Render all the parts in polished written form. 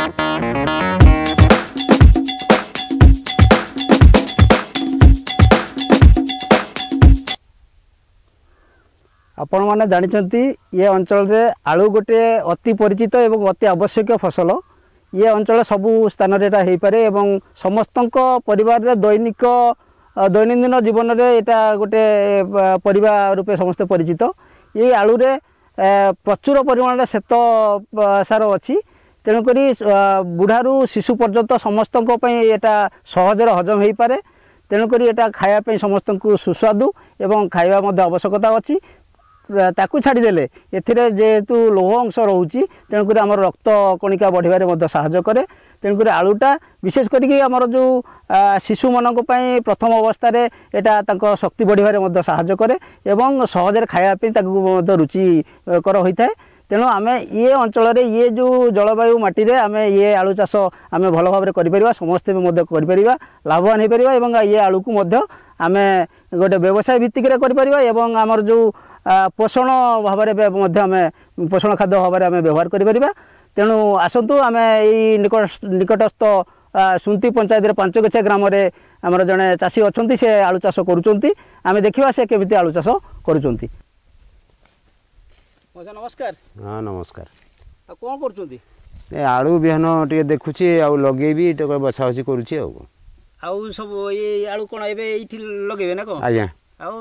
ଆପଣମାନେ ଜାଣିଛନ୍ତି, ଏ ଅଞ୍ଚଳରେ ଆଳୁ ଗୋଟିଏ ଅତି ପରିଚିତ ଏବଂ ଅତି ଆବଶ୍ୟକୀୟ ଫସଲ। ଇଏ ଅଞ୍ଚଳ ସବୁ ସ୍ଥାନରେ ଏଇଟା ହେଇପାରେ ଏବଂ ସମସ୍ତଙ୍କ ପରିବାରରେ ଦୈନିକ ଦୈନନ୍ଦିନ ଜୀବନରେ ଏଇଟା ଗୋଟେ ପରିବା ରୂପେ ସମସ୍ତେ ପରିଚିତ। ଏଇ ଆଳୁରେ ପ୍ରଚୁର ପରିମାଣରେ ଶ୍ଵେତ ସାର ଅଛି, ତେଣୁକରି ବୁଢ଼ାରୁ ଶିଶୁ ପର୍ଯ୍ୟନ୍ତ ସମସ୍ତଙ୍କ ପାଇଁ ଏଇଟା ସହଜରେ ହଜମ ହେଇପାରେ। ତେଣୁକରି ଏଇଟା ଖାଇବା ପାଇଁ ସମସ୍ତଙ୍କୁ ସୁସ୍ୱାଦୁ ଏବଂ ଖାଇବା ମଧ୍ୟ ଆବଶ୍ୟକତା ଅଛି। ତାକୁ ଛାଡ଼ିଦେଲେ ଏଥିରେ ଯେହେତୁ ଲୌହ ଅଂଶ ରହୁଛି, ତେଣୁକରି ଆମର ରକ୍ତ କଣିକା ବଢ଼ିବାରେ ମଧ୍ୟ ସାହାଯ୍ୟ କରେ। ତେଣୁକରି ଆଳୁଟା ବିଶେଷ କରିକି ଆମର ଯେଉଁ ଶିଶୁମାନଙ୍କ ପାଇଁ ପ୍ରଥମ ଅବସ୍ଥାରେ ଏଇଟା ତାଙ୍କ ଶକ୍ତି ବଢ଼ିବାରେ ମଧ୍ୟ ସାହାଯ୍ୟ କରେ ଏବଂ ସହଜରେ ଖାଇବା ପାଇଁ ତାକୁ ମଧ୍ୟ ରୁଚିକର ହୋଇଥାଏ। ତେଣୁ ଆମେ ଇଏ ଅଞ୍ଚଳରେ ଇଏ ଯେଉଁ ଜଳବାୟୁ ମାଟିରେ ଆମେ ଇଏ ଆଳୁ ଚାଷ ଆମେ ଭଲ ଭାବରେ କରିପାରିବା, ସମସ୍ତେ ବି ମଧ୍ୟ କରିପାରିବା, ଲାଭବାନ ହେଇପାରିବା ଏବଂ ଇଏ ଆଳୁକୁ ମଧ୍ୟ ଆମେ ଗୋଟେ ବ୍ୟବସାୟ ଭିତ୍ତିକରେ କରିପାରିବା ଏବଂ ଆମର ଯେଉଁ ପୋଷଣ ଭାବରେ ମଧ୍ୟ ଆମେ ପୋଷଣ ଖାଦ୍ୟ ଭାବରେ ଆମେ ବ୍ୟବହାର କରିପାରିବା। ତେଣୁ ଆସନ୍ତୁ ଆମେ ଏଇ ନିକଟସ୍ଥ ସୁନ୍ତି ପଞ୍ଚାୟତରେ ପାଞ୍ଚଗଛିଆ ଗ୍ରାମରେ ଆମର ଜଣେ ଚାଷୀ ଅଛନ୍ତି, ସେ ଆଳୁ ଚାଷ କରୁଛନ୍ତି। ଆମେ ଦେଖିବା ସେ କେମିତି ଆଳୁ ଚାଷ କରୁଛନ୍ତି। ମଉସା ନମସ୍କାର। ହଁ ନମସ୍କାର। ଆଉ କ'ଣ କରୁଛନ୍ତି? ଏ ଆଳୁ ବିହନ ଟିକେ ଦେଖୁଛି ଆଉ ଲଗେଇବି, ଟିକେ ବଛାବଛି କରୁଛି। ଆଉ ଆଉ ସବୁ ଏଇ ଆଳୁ କ'ଣ ଏବେ ଏଇଠି ଲଗେଇବେ ନା କ'ଣ? ଆଜ୍ଞା। ଆଉ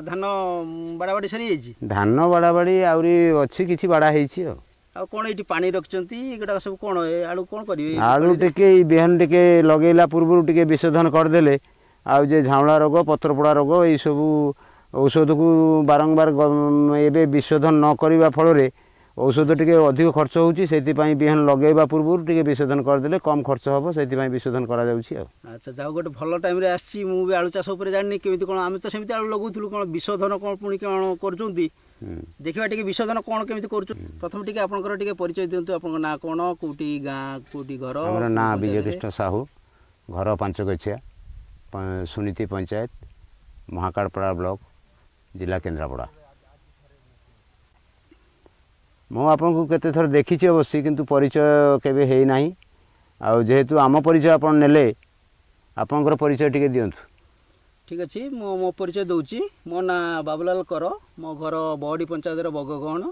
ଧାନ ବାଡ଼ାବାଡ଼ି ସରିଯାଇଛି? ଧାନ ବାଡ଼ାବାଡ଼ି ଆହୁରି ଅଛି, କିଛି ବାଡ଼ା ହେଇଛି। ଆଉ ଆଉ କ'ଣ ଏଇଠି ପାଣି ରଖିଛନ୍ତି ଏଗୁଡ଼ାକ ସବୁ କ'ଣ? ଏ ଆଳୁ କ'ଣ କରିବେ? ଆଳୁ ଟିକେ ଏଇ ବିହନ ଟିକେ ଲଗେଇଲା ପୂର୍ବରୁ ଟିକେ ବିଶୋଧନ କରିଦେଲେ ଆଉ ଯେ ଝାଉଁଳା ରୋଗ, ପତ୍ରପୋଡ଼ା ରୋଗ, ଏଇସବୁ ଔଷଧକୁ ବାରମ୍ବାର ଏବେ ବିଶୋଧନ ନ କରିବା ଫଳରେ ଔଷଧ ଟିକେ ଅଧିକ ଖର୍ଚ୍ଚ ହେଉଛି। ସେଥିପାଇଁ ବିହନ ଲଗେଇବା ପୂର୍ବରୁ ଟିକେ ବିଶୋଧନ କରିଦେଲେ କମ୍ ଖର୍ଚ୍ଚ ହେବ, ସେଥିପାଇଁ ବିଶୋଧନ କରାଯାଉଛି। ଆଉ ଆଚ୍ଛା, ଯାଉ ଗୋଟେ ଭଲ ଟାଇମ୍ରେ ଆସିଛି। ମୁଁ ବି ଆଳୁ ଚାଷ ଉପରେ ଜାଣିନି କେମିତି କ'ଣ। ଆମେ ତ ସେମିତି ଆଳୁ ଲଗାଉଥିଲୁ, କ'ଣ ବିଶୋଧନ କ'ଣ ପୁଣି କ'ଣ କରୁଛନ୍ତି ଦେଖିବା ଟିକେ। ବିଶୋଧନ କ'ଣ କେମିତି କରୁଛନ୍ତି? ପ୍ରଥମେ ଟିକେ ଆପଣଙ୍କର ଟିକେ ପରିଚୟ ଦିଅନ୍ତୁ। ଆପଣଙ୍କ ନାଁ କ'ଣ, କେଉଁଠି ଗାଁ, କେଉଁଠି ଘର? ଆମର ନାଁ ବିଜୟକୃଷ୍ଣ ସାହୁ, ଘର ପାଞ୍ଚଗଛିଆ, ସୁନୀତି ପଞ୍ଚାୟତ, ମହାକାଳପଡ଼ା ବ୍ଲକ, ଜିଲ୍ଲା କେନ୍ଦ୍ରାପଡ଼ା। ମୁଁ ଆପଣଙ୍କୁ କେତେ ଥର ଦେଖିଛି ଅବଶ୍ୟ, କିନ୍ତୁ ପରିଚୟ କେବେ ହେଇନାହିଁ। ଆଉ ଯେହେତୁ ଆମ ପରିଚୟ ଆପଣ ନେଲେ, ଆପଣଙ୍କର ପରିଚୟ ଟିକେ ଦିଅନ୍ତୁ। ଠିକ୍ ଅଛି, ମୁଁ ମୋ ପରିଚୟ ଦେଉଛି। ମୋ ନାଁ ବାବୁଲାଲ କର, ମୋ ଘର ବହଡ଼ି ପଞ୍ଚାୟତର ବଗଗହଣ।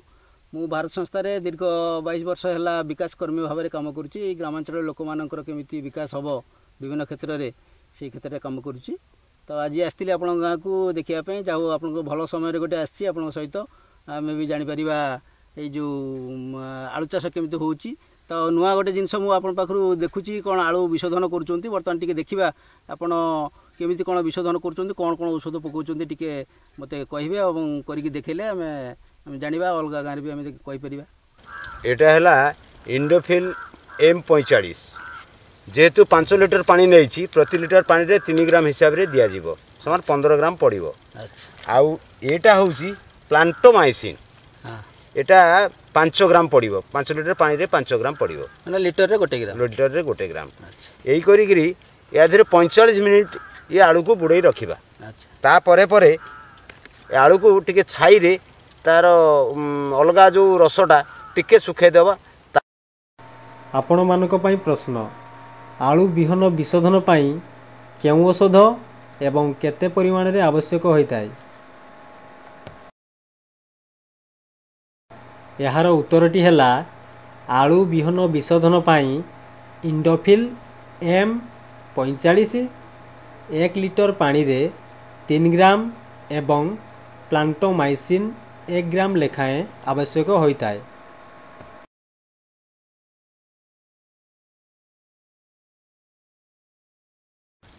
ମୁଁ ଭାରତ ସଂସ୍ଥାରେ ଦୀର୍ଘ 22 ବର୍ଷ ହେଲା ବିକାଶ କର୍ମୀ ଭାବରେ କାମ କରୁଛି। ଏଇ ଗ୍ରାମାଞ୍ଚଳର ଲୋକମାନଙ୍କର କେମିତି ବିକାଶ ହେବ ବିଭିନ୍ନ କ୍ଷେତ୍ରରେ, ସେଇ କ୍ଷେତ୍ରରେ କାମ କରୁଛି। ତ ଆଜି ଆସିଥିଲି ଆପଣଙ୍କ ଗାଁକୁ ଦେଖିବା ପାଇଁ। ଯାହା ହଉ, ଆପଣଙ୍କ ଭଲ ସମୟରେ ଗୋଟେ ଆସିଛି। ଆପଣଙ୍କ ସହିତ ଆମେ ବି ଜାଣିପାରିବା ଏଇ ଯେଉଁ ଆଳୁ ଚାଷ କେମିତି ହେଉଛି। ତ ନୂଆ ଗୋଟେ ଜିନିଷ ମୁଁ ଆପଣଙ୍କ ପାଖରୁ ଦେଖୁଛି, କ'ଣ ଆଳୁ ବିଶୋଧନ କରୁଛନ୍ତି। ବର୍ତ୍ତମାନ ଟିକେ ଦେଖିବା ଆପଣ କେମିତି କ'ଣ ବିଶୋଧନ କରୁଛନ୍ତି, କ'ଣ କ'ଣ ଔଷଧ ପକାଉଛନ୍ତି, ଟିକେ ମୋତେ କହିବେ ଏବଂ କରିକି ଦେଖେଇଲେ ଆମେ ଜାଣିବା, ଅଲଗା ଗାଁରେ ବି ଆମେ କହିପାରିବା। ଏଇଟା ହେଲା ଇଣ୍ଡୋଫିଲ୍ ଏମ୍ 45। ଯେହେତୁ 5 ଲିଟର ପାଣି ନେଇଛି, ପ୍ରତି ଲିଟର ପାଣିରେ 3 ଗ୍ରାମ ହିସାବରେ ଦିଆଯିବ, ସମାନ 15 ଗ୍ରାମ ପଡ଼ିବ। ଆଉ ଏଇଟା ହେଉଛି ପ୍ଲାଣ୍ଟୋମାଇସିନ୍। ଏଇଟା 5 ଗ୍ରାମ ପଡ଼ିବ, 5 ଲିଟର ପାଣିରେ 5 ଗ୍ରାମ ପଡ଼ିବ। ମାନେ ଲିଟରରେ 1 ଗ୍ରାମ? ଲିଟରରେ 1 ଗ୍ରାମ। ଏଇ କରିକିରି ୟା ଦେହରେ 45 ମିନିଟ୍ ଇଏ ଆଳୁକୁ ବୁଡ଼େଇ ରଖିବା। ତାପରେ ପରେ ଏ ଆଳୁକୁ ଟିକେ ଛାଇରେ ତାର ଅଲଗା ଯେଉଁ ରସଟା ଟିକେ ଶୁଖେଇ ଦେବା। ଆପଣମାନଙ୍କ ପାଇଁ ପ୍ରଶ୍ନ, ଆଳୁ ବିହନ ବିଶୋଧନ ପାଇଁ କେଉଁ ଔଷଧ ଏବଂ କେତେ ପରିମାଣରେ ଆବଶ୍ୟକ ହୋଇଥାଏ? ଏହାର ଉତ୍ତରଟି ହେଲା, ଆଳୁ ବିହନ ବିଶୋଧନ ପାଇଁ ଇଣ୍ଡୋଫିଲ୍ ଏମ୍ 45 1 ଲିଟର ପାଣିରେ 3 ଗ୍ରାମ ଏବଂ ପ୍ଲାଣ୍ଟୋମାଇସିନ୍ 1 ଗ୍ରାମ ଲେଖାଏଁ ଆବଶ୍ୟକ ହୋଇଥାଏ।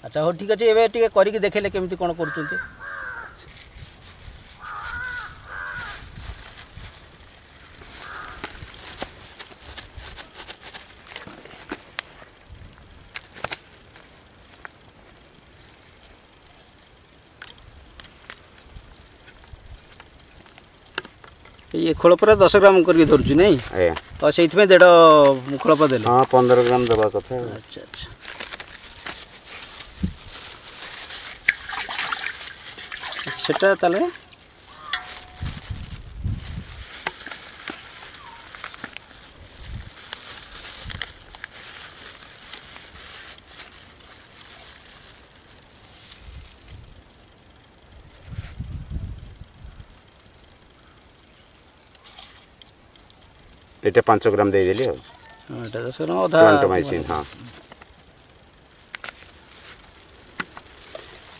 ଆଚ୍ଛା, ହଉ ଠିକ୍ ଅଛି। ଏବେ ଟିକେ କରିକି ଦେଖେଇଲେ କେମିତି କ'ଣ କରୁଛନ୍ତି। ଇଏ ଖୋଳପରେ 10 ଗ୍ରାମ କରିକି ଧରୁଛି ନାଇଁ? ଆଜ୍ଞା। ଆଉ ସେଇଥିପାଇଁ ଦେଢ଼ ଖୋଳପ ଦେଲେ? ହଁ, 15 ଗ୍ରାମ ଦେବା କଥା। ଆଚ୍ଛା, ସେଟା ତାହେଲେ ଏଇଟା 5 ଗ୍ରାମ ଦେଇଦେଲି ଆଉ। ଏଇଟା 10 ଗ୍ରାମ ଅଧା ପ୍ଲାଣ୍ଟୋମାଇସିନ୍। ହଁ,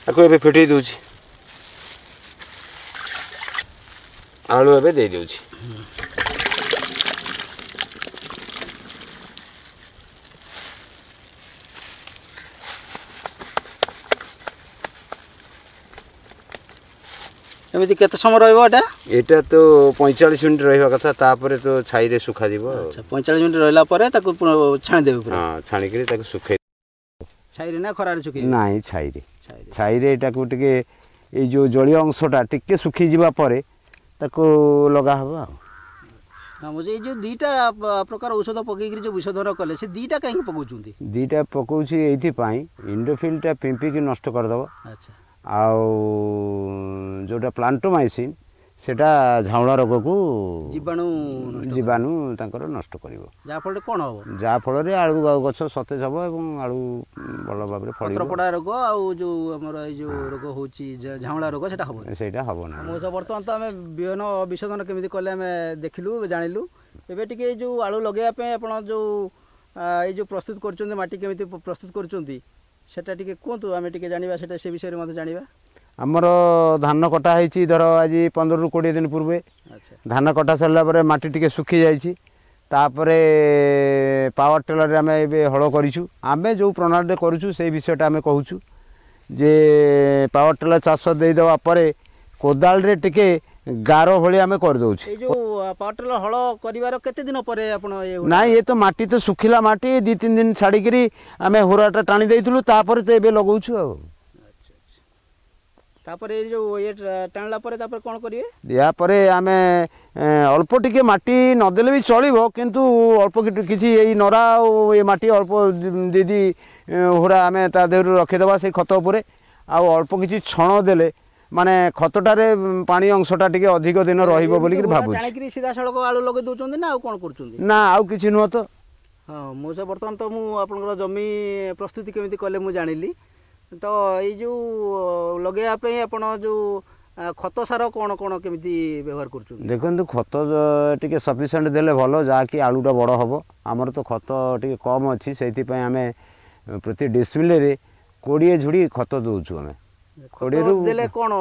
ତାକୁ ଏବେ ଫିଟେଇ ଦେଉଛି। ଆଳୁ ଏବେ ଦେଇଦେଉଛି। ଏମିତି କେତେ ସମୟ ରହିବ ଏଟା? ଏଇଟା ତ 45 ମିନିଟ୍ ରହିବା କଥା, ତାପରେ ତ ଛାଇରେ ଶୁଖାଯିବ। ଆଚ୍ଛା, 45 ମିନିଟ୍ ରହିଲା ପରେ ତାକୁ ଛାଣିଦେବେ ପୁରା? ହଁ, ଛାଣିକିରି ତାକୁ ଶୁଖେଇ। ଛାଇରେ ନା ଖରାରେ ଶୁଖେଇବେ? ନାଇଁ, ଛାଇରେ। ଛାଇରେ ଏଟାକୁ ଟିକେ ଏଇ ଯେଉଁ ଜଳୀୟ ଅଂଶଟା ଟିକେ ଶୁଖିଯିବା ପରେ ତାକୁ ଲଗା ହେବ ଆଉ। ହଁ, ମୁଁ ଏଇ ଯେଉଁ 2ଟା ପ୍ରକାର ଔଷଧ ପକେଇକିରି ଯେଉଁ ବିଶୋଧନ କଲେ, ସେ 2ଟା କାହିଁକି ପକାଉଛନ୍ତି? 2ଟା ପକାଉଛି ଏଇଥିପାଇଁ, ଇଣ୍ଡୋଫିଲ୍ଟା ପିମ୍ପିକି ନଷ୍ଟ କରିଦେବ। ଆଚ୍ଛା। ଆଉ ଯେଉଁଟା ପ୍ଲାଣ୍ଟୋମାଇସିନ୍ ସେଟା ଝାଉଁଳା ରୋଗକୁ ଜୀବାଣୁ ଜୀବାଣୁ ତାଙ୍କର ନଷ୍ଟ କରିବ। ଯାହାଫଳରେ କ'ଣ ହେବ? ଯାହାଫଳରେ ଆଳୁ ଗଛ ସତେଜ ହେବ ଏବଂ ଆଳୁ ଭଲ ଭାବରେ ଫଳିବ। ପତ୍ରପୋଡ଼ା ରୋଗ ଆଉ ଯେଉଁ ଆମର ଏଇ ଯେଉଁ ରୋଗ ହେଉଛି ଝାଉଁଳା ରୋଗ, ସେଟା ହେବ? ସେଇଟା ହେବ ନାହିଁ। ମୁଁ ବର୍ତ୍ତମାନ ତ ଆମେ ବିହନ ବିଶୋଧନ କେମିତି କଲେ ଆମେ ଦେଖିଲୁ, ଜାଣିଲୁ। ଏବେ ଟିକେ ଏଇ ଯେଉଁ ଆଳୁ ଲଗେଇବା ପାଇଁ ଆପଣ ଯେଉଁ ଏଇ ଯେଉଁ ପ୍ରସ୍ତୁତ କରୁଛନ୍ତି, ମାଟି କେମିତି ପ୍ରସ୍ତୁତ କରୁଛନ୍ତି ସେଟା ଟିକେ କୁହନ୍ତୁ, ଆମେ ଟିକେ ଜାଣିବା ସେଟା, ସେ ବିଷୟରେ ମଧ୍ୟ ଜାଣିବା। ଆମର ଧାନ କଟା ହେଇଛି ଧର ଆଜି 15ରୁ 20 ଦିନ ପୂର୍ବେ। ଧାନ କଟା ସରିଲା ପରେ ମାଟି ଟିକେ ଶୁଖି ଯାଇଛି। ତାପରେ ପାୱାର ଟେଲରରେ ଆମେ ଏବେ ହଳ କରିଛୁ। ଆମେ ଯେଉଁ ପ୍ରଣାଳୀରେ କରୁଛୁ ସେଇ ବିଷୟଟା ଆମେ କହୁଛୁ ଯେ ପାୱାର ଟେଲର ଚାଷ ଦେଇଦେବା ପରେ କୋଦାଳରେ ଟିକେ ଗାର ଭଳି ଆମେ କରିଦେଉଛୁ। ଏଇ ଯେଉଁ ପାୱାର ଟେଲର ହଳ କରିବାର କେତେ ଦିନ ପରେ ଆପଣ? ନାଇଁ, ଏ ତ ମାଟି ତ ଶୁଖିଲା ମାଟି, 2-3 ଦିନ ଛାଡ଼ିକିରି ଆମେ ହୁରାଟା ଟାଣି ଦେଇଥିଲୁ, ତାପରେ ତ ଏବେ ଲଗାଉଛୁ ଆଉ। ତାପରେ ଏଇ ଯେଉଁ ଇଏ ଟାଣିଲା ପରେ ତାପରେ କ'ଣ କରିବେ? ୟା ପରେ ଆମେ ଅଳ୍ପ ଟିକେ ମାଟି ନଦେଲେ ବି ଚଳିବ, କିନ୍ତୁ ଅଳ୍ପ କିଛି ଏଇ ନଡ଼ା ଆଉ ଏ ମାଟି ଅଳ୍ପ 2 ହୁରା ଆମେ ତା ଦେହରୁ ରଖିଦେବା ସେଇ ଖତ ଉପରେ। ଆଉ ଅଳ୍ପ କିଛି ଛଣ ଦେଲେ ମାନେ ଖତଟାରେ ପାଣି ଅଂଶଟା ଟିକେ ଅଧିକ ଦିନ ରହିବ ବୋଲିକିରି ଭାବୁଛି। ଟାଣିକିରି ସିଧାସଳଖ ଆଳୁ ଲଗେଇ ଦେଉଛନ୍ତି ନା ଆଉ କ'ଣ କରୁଛନ୍ତି? ନା, ଆଉ କିଛି ନୁହଁ ତ। ହଁ, ମୁଁ ସେ ବର୍ତ୍ତମାନ ତ ମୁଁ ଆପଣଙ୍କର ଜମି ପ୍ରସ୍ତୁତି କେମିତି କଲେ ମୁଁ ଜାଣିଲି। ତ ଏଇ ଯେଉଁ ଲଗେଇବା ପାଇଁ ଆପଣ ଯେଉଁ ଖତ ସାର କ'ଣ କ'ଣ କେମିତି ବ୍ୟବହାର କରୁଛନ୍ତି? ଦେଖନ୍ତୁ, ଖତ ଟିକେ ସଫିସିଏଣ୍ଟ ଦେଲେ ଭଲ, ଯାହାକି ଆଳୁଟା ବଡ଼ ହେବ। ଆମର ତ ଖତ ଟିକେ କମ୍ ଅଛି, ସେଇଥିପାଇଁ ଆମେ ପ୍ରତି ଡିସମିଲରେ 20 ଝୁଡ଼ି ଖତ ଦେଉଛୁ ଆମେ। 20ରୁ ଦେଲେ କ'ଣ?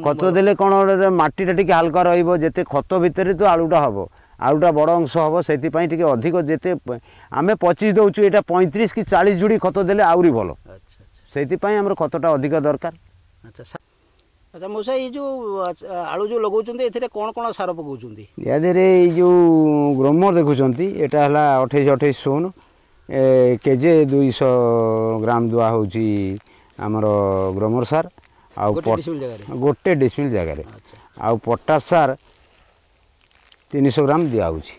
ଖତ ଦେଲେ କ'ଣ, ମାଟିଟା ଟିକେ ହାଲକା ରହିବ। ଯେତେ ଖତ ଭିତରେ ତ ଆଳୁଟା ହେବ, ଆଳୁଟା ବଡ଼ ଅଂଶ ହେବ, ସେଥିପାଇଁ ଟିକେ ଅଧିକ ଯେତେ ଆମେ 25 ଦେଉଛୁ, ଏଇଟା 35 କି 40 ଝୁଡ଼ି ଖତ ଦେଲେ ଆହୁରି ଭଲ। ସେଇଥିପାଇଁ ଆମର ଖତଟା ଅଧିକ ଦରକାର। ଆଚ୍ଛା ଆଚ୍ଛା, ମଉସା, ଏଇ ଯେଉଁ ଆଳୁ ଯେଉଁ ଲଗାଉଛନ୍ତି ଏଥିରେ କ'ଣ କ'ଣ ସାର ପକାଉଛନ୍ତି? ୟା ଦେହରେ ଏଇ ଯେଉଁ ଗ୍ରୋମର ଦେଖୁଛନ୍ତି, ଏଇଟା ହେଲା 28 28 0 କେଜି 200 ଗ୍ରାମ ଦୁଆ ହେଉଛି ଆମର ଗ୍ରୋମର ସାର। ଆଉ ଗୋଟେ ଡିସମିଲ୍ ଜାଗାରେ ଆଉ ପଟାସ ସାର 300 ଗ୍ରାମ ଦିଆହେଉଛି।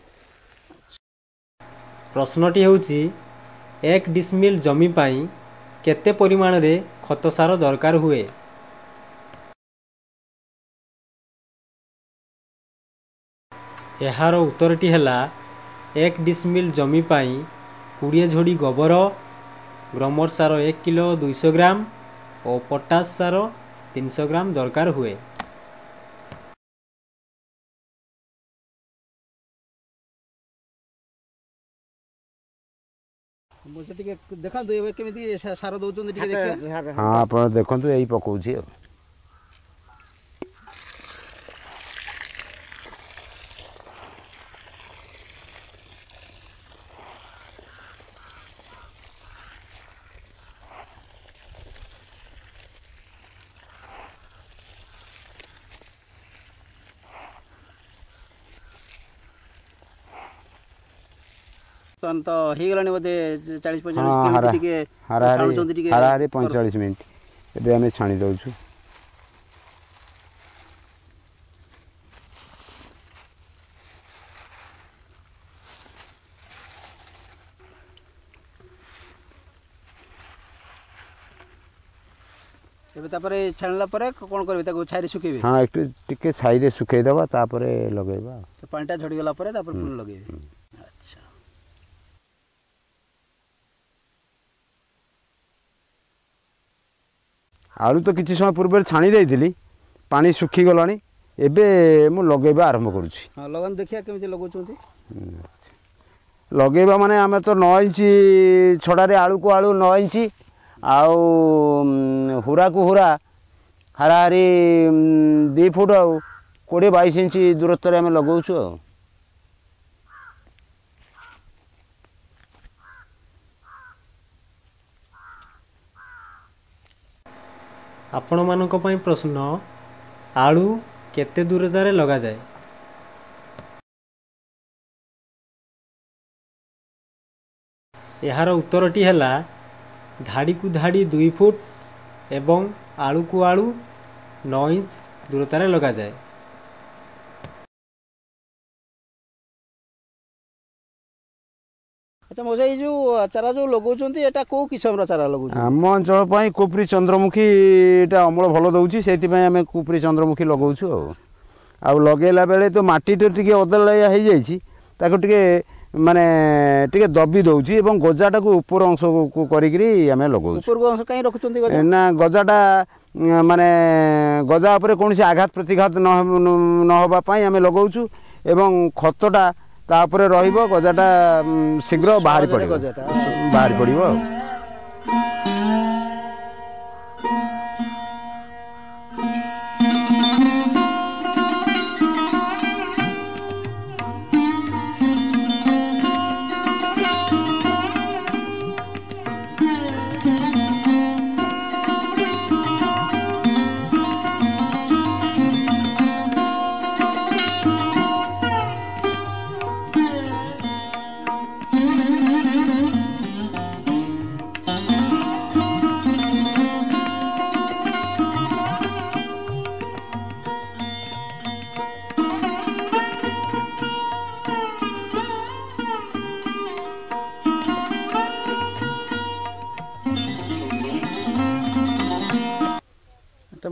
ପ୍ରଶ୍ନଟି ହେଉଛି, 1 ଡିସମିଲ୍ ଜମି ପାଇଁ କେତେ ପରିମାଣରେ ଖତ ସାର ଦରକାର ହୁଏ? ଏହାର ଉତ୍ତରଟି ହେଲା, 1 ଡିସମିଲ୍ ଜମି ପାଇଁ 20 ଝୋଡ଼ି ଗୋବର, ଗ୍ରୋମର ସାର 1 କିଲୋ 200 ଗ୍ରାମ ଓ ପଟାସ ସାର 300 ଗ୍ରାମ ଦରକାର ହୁଏ। ମୁଁ ସେ ଟିକେ ଦେଖାନ୍ତୁ ଏବେ କେମିତି ସାର ଦେଉଛନ୍ତି, ଟିକେ ଦେଖିବା। ହଁ, ଆପଣ ଦେଖନ୍ତୁ, ଏଇ ପକଉଛି ଆଉ। ବର୍ତ୍ତମାନ ତ ହେଇଗଲାଣି ବୋଧେ 40 45, ଟିକେ ଛାଣୁଛନ୍ତି ଟିକେ? ହାରାହାରି 45 ମିନିଟ୍ ଏବେ ଆମେ ଛାଣି ଦେଉଛୁ। ଏବେ ତାପରେ ଛାଣିଲା ପରେ କ'ଣ କରିବେ? ତାକୁ ଛାଇରେ ଶୁଖେଇବେ? ହଁ, ଏକଟୁ ଟିକେ ଛାଇରେ ଶୁଖେଇଦେବା, ତାପରେ ଲଗେଇବା। ପାଣିଟା ଝଡ଼ିଗଲା ପରେ ତାପରେ ପୁଣି ଲଗେଇବେ। ଆଚ୍ଛା, ଆଳୁ ତ କିଛି ସମୟ ପୂର୍ବରୁ ଛାଣି ଦେଇଥିଲି, ପାଣି ଶୁଖିଗଲାଣି, ଏବେ ମୁଁ ଲଗେଇବା ଆରମ୍ଭ କରୁଛି। ହଁ, ଲଗାନ୍ତୁ, ଦେଖିବା କେମିତି ଲଗାଉଛନ୍ତି। ଲଗେଇବା ମାନେ ଆମେ ତ 9 ଇଞ୍ଚ ଛଡ଼ାରେ ଆଳୁକୁ ଆଳୁ 9 ଇଞ୍ଚ ଆଉ ହୁରାକୁ ହୁରା ହାରାହାରି 2 ଫୁଟ ଆଉ 20-22 ଇଞ୍ଚ ଦୂରତ୍ୱରେ ଆମେ ଲଗାଉଛୁ। ଆଉ ଆପଣମାନଙ୍କ ପାଇଁ ପ୍ରଶ୍ନ, ଆଳୁ କେତେ ଦୂରତାରେ ଲଗାଯାଏ? ଏହାର ଉତ୍ତରଟି ହେଲା ଧାଡ଼ିକୁ ଧାଡ଼ି 2 ଫୁଟ ଏବଂ ଆଳୁକୁ ଆଳୁ 9 ଇଞ୍ଚ ଦୂରତାରେ ଲଗାଯାଏ। ଆଚ୍ଛା ମଉସା, ଏଇ ଯେଉଁ ଚାରା ଯେଉଁ ଲଗାଉଛନ୍ତି ଏଇଟା କେଉଁ କିସମର ଚାରା ଲଗାଉଛନ୍ତି? ଆମ ଅଞ୍ଚଳ ପାଇଁ କୁପରି ଚନ୍ଦ୍ରମୁଖୀ ଏଇଟା ଅମଳ ଭଲ ଦେଉଛି, ସେଇଥିପାଇଁ ଆମେ କୁପରି ଚନ୍ଦ୍ରମୁଖୀ ଲଗାଉଛୁ। ଆଉ ଲଗେଇଲା ବେଳେ ତ ମାଟିଟା ଟିକେ ଅଦଳିଆ ହେଇଯାଇଛି, ତାକୁ ଟିକେ ମାନେ ଟିକେ ଦବି ଦେଉଛି ଏବଂ ଗଜାଟାକୁ ଉପର ଅଂଶକୁ କରିକିରି ଆମେ ଲଗାଉଛୁ। ଉପରକୁ ଅଂଶ କାହିଁ ରଖୁଛନ୍ତି ନା, ଗଜାଟା ମାନେ ଗଜା ଉପରେ କୌଣସି ଆଘାତ ପ୍ରତିଘାତ ନ ହେବା ପାଇଁ ଆମେ ଲଗାଉଛୁ ଏବଂ ଖତଟା ତାପରେ ରହିବ, ଗଜାଟା ଶୀଘ୍ର ବାହାରି ପଡ଼ିବ, ବାହାରି ପଡ଼ିବ। ଆଉ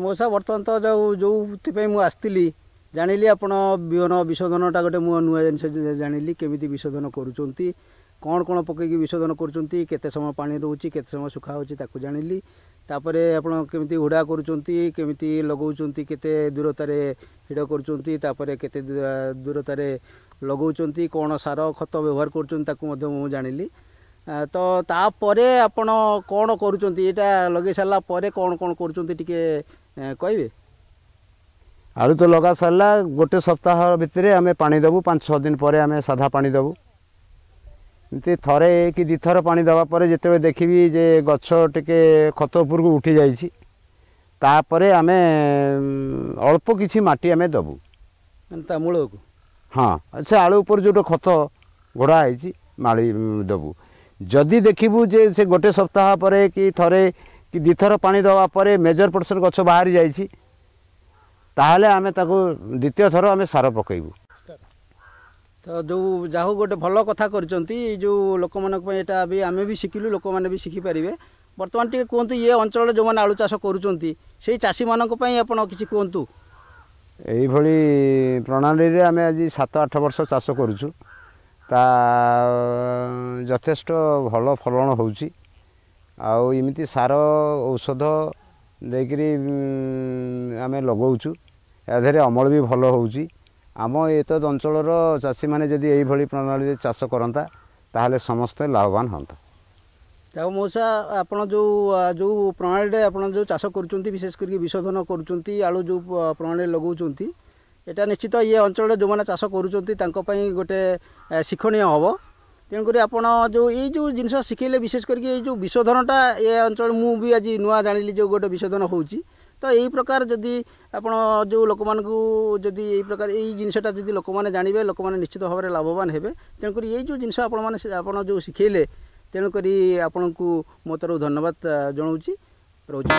ମଉସା, ବର୍ତ୍ତମାନ ତ ଯେଉଁଥିପାଇଁ ମୁଁ ଆସିଥିଲି ଜାଣିଲି ଆପଣ ବିହନ ବିଶୋଧନଟା ଗୋଟେ ମୁଁ ନୂଆ ଜିନିଷ ଜାଣିଲି, କେମିତି ବିଶୋଧନ କରୁଛନ୍ତି, କ'ଣ କ'ଣ ପକେଇକି ବିଶୋଧନ କରୁଛନ୍ତି, କେତେ ସମୟ ପାଣି ରହୁଛି, କେତେ ସମୟ ଶୁଖା ହେଉଛି ତାକୁ ଜାଣିଲି। ତାପରେ ଆପଣ କେମିତି ହୁଡ଼ା କରୁଛନ୍ତି, କେମିତି ଲଗାଉଛନ୍ତି, କେତେ ଦୂରତାରେ ହିଡ଼ କରୁଛନ୍ତି, ତାପରେ କେତେ ଦୂରତାରେ ଲଗାଉଛନ୍ତି, କ'ଣ ସାର ଖତ ବ୍ୟବହାର କରୁଛନ୍ତି ତାକୁ ମଧ୍ୟ ମୁଁ ଜାଣିଲି। ତ ତାପରେ ଆପଣ କ'ଣ କରୁଛନ୍ତି, ଏଇଟା ଲଗେଇ ସାରିଲା ପରେ କ'ଣ କ'ଣ କରୁଛନ୍ତି ଟିକେ କହିବେ? ଆଳୁ ତ ଲଗା ସାରିଲା, ଗୋଟେ ସପ୍ତାହ ଭିତରେ ଆମେ ପାଣି ଦେବୁ, 5-6 ଦିନ ପରେ ଆମେ ସାଧା ପାଣି ଦେବୁ। ଏମିତି ଥରେ କି 2ଥର ପାଣି ଦେବା ପରେ ଯେତେବେଳେ ଦେଖିବି ଯେ ଗଛ ଟିକେ ଖତ ଉପରକୁ ଉଠି ଯାଇଛି, ତାପରେ ଆମେ ଅଳ୍ପ କିଛି ମାଟି ଆମେ ଦେବୁ ତା ମୂଳକୁ। ହଁ, ସେ ଆଳୁ ଉପରେ ଯେଉଁଟା ଖତ ଘୋଡ଼ା ହେଇଛି ମାଳି ଦେବୁ। ଯଦି ଦେଖିବୁ ଯେ ସେ ଗୋଟେ ସପ୍ତାହ ପରେ କି ଥରେ କି 2ଥର ପାଣି ଦେବା ପରେ ମେଜର ପର୍ସନ୍ ଗଛ ବାହାରି ଯାଇଛି, ତାହେଲେ ଆମେ ତାକୁ ଦ୍ୱିତୀୟ ଥର ଆମେ ସାର ପକାଇବୁ। ତ ଯେଉଁ ଯାହା ହଉ ଗୋଟେ ଭଲ କଥା କରିଛନ୍ତି, ଏଇ ଯେଉଁ ଲୋକମାନଙ୍କ ପାଇଁ ଏଇଟା ବି ଆମେ ବି ଶିଖିଲୁ, ଲୋକମାନେ ବି ଶିଖିପାରିବେ। ବର୍ତ୍ତମାନ ଟିକେ କୁହନ୍ତୁ, ଇଏ ଅଞ୍ଚଳରେ ଯେଉଁମାନେ ଆଳୁ ଚାଷ କରୁଛନ୍ତି ସେଇ ଚାଷୀମାନଙ୍କ ପାଇଁ ଆପଣ କିଛି କୁହନ୍ତୁ। ଏଇଭଳି ପ୍ରଣାଳୀରେ ଆମେ ଆଜି 7-8 ବର୍ଷ ଚାଷ କରୁଛୁ, ତା ଯଥେଷ୍ଟ ଭଲ ଫଳନ ହେଉଛି। ଆଉ ଏମିତି ସାର ଔଷଧ ଦେଇକରି ଆମେ ଲଗାଉଛୁ, ଏହା ଦେହରେ ଅମଳ ବି ଭଲ ହେଉଛି। ଆମ ଏତଦ୍ ଅଞ୍ଚଳର ଚାଷୀମାନେ ଯଦି ଏଇଭଳି ପ୍ରଣାଳୀରେ ଚାଷ କରନ୍ତା ତାହେଲେ ସମସ୍ତେ ଲାଭବାନ ହୁଅନ୍ତା। ଆଉ ମଉସା, ଆପଣ ଯେଉଁ ଯେଉଁ ପ୍ରଣାଳୀରେ ଆପଣ ଯେଉଁ ଚାଷ କରୁଛନ୍ତି, ବିଶେଷ କରିକି ବିଶୋଧନ କରୁଛନ୍ତି, ଆଳୁ ଯେଉଁ ପ୍ରଣାଳୀରେ ଲଗାଉଛନ୍ତି, ଏଇଟା ନିଶ୍ଚିତ ଇଏ ଅଞ୍ଚଳରେ ଯେଉଁମାନେ ଚାଷ କରୁଛନ୍ତି ତାଙ୍କ ପାଇଁ ଗୋଟେ ଶିକ୍ଷଣୀୟ ହେବ। ତେଣୁକରି ଆପଣ ଯେଉଁ ଏଇ ଯେଉଁ ଜିନିଷ ଶିଖେଇଲେ, ବିଶେଷ କରିକି ଏଇ ଯେଉଁ ବିଶୋଧନଟା ଏ ଅଞ୍ଚଳ ମୁଁ ବି ଆଜି ନୂଆ ଜାଣିଲି ଯେଉଁ ଗୋଟେ ବିଶୋଧନ ହେଉଛି। ତ ଏଇ ପ୍ରକାର ଯଦି ଆପଣ ଯେଉଁ ଲୋକମାନଙ୍କୁ ଯଦି ଏଇ ପ୍ରକାର ଏଇ ଜିନିଷଟା ଯଦି ଲୋକମାନେ ଜାଣିବେ, ଲୋକମାନେ ନିଶ୍ଚିତ ଭାବରେ ଲାଭବାନ ହେବେ। ତେଣୁକରି ଏଇ ଯେଉଁ ଜିନିଷ ଆପଣମାନେ ଆପଣ ଯେଉଁ ଶିଖେଇଲେ, ତେଣୁକରି ଆପଣଙ୍କୁ ମୋ ତରଫରୁ ଧନ୍ୟବାଦ ଜଣାଉଛି, ରହୁଛି।